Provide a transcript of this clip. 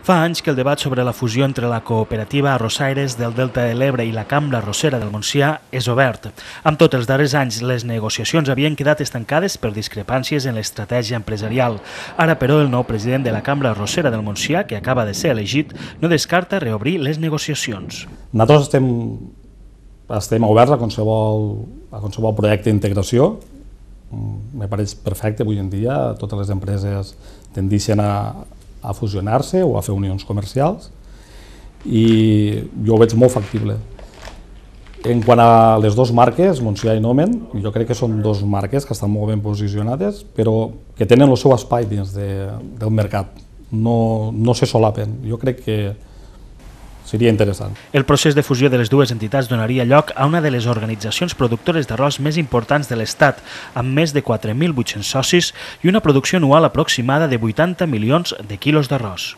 Fa anys que el debat sobre la fusió entre la cooperativa Arrossaires del Delta de l'Ebre i la Cambra Arrossera del Montsià és obert. Amb tots els darrers anys, les negociacions havien quedat estancades per discrepàncies en l'estratègia empresarial. Ara, però, el nou president de la Cambra Arrossera del Montsià, que acaba de ser elegit, no descarta reobrir les negociacions. Nosaltres estem oberts a qualsevol projecte d'integració. Me pareix perfecte avui en dia, totes les empreses tendeixen a fusionar-se o a fer unions comercials i jo ho veig molt factible. En quant a les dues marques, Montsià i Nomen, jo crec que són dues marques que estan molt ben posicionades, però que tenen el seu espai dins del mercat, no se solapen. Jo crec que seria interessant. El procés de fusió de les dues entitats donaria lloc a una de les organitzacions productores d'arròs més importants de l'Estat, amb més de 4.800 socis i una producció anual aproximada de 80 milions de quilos d'arròs.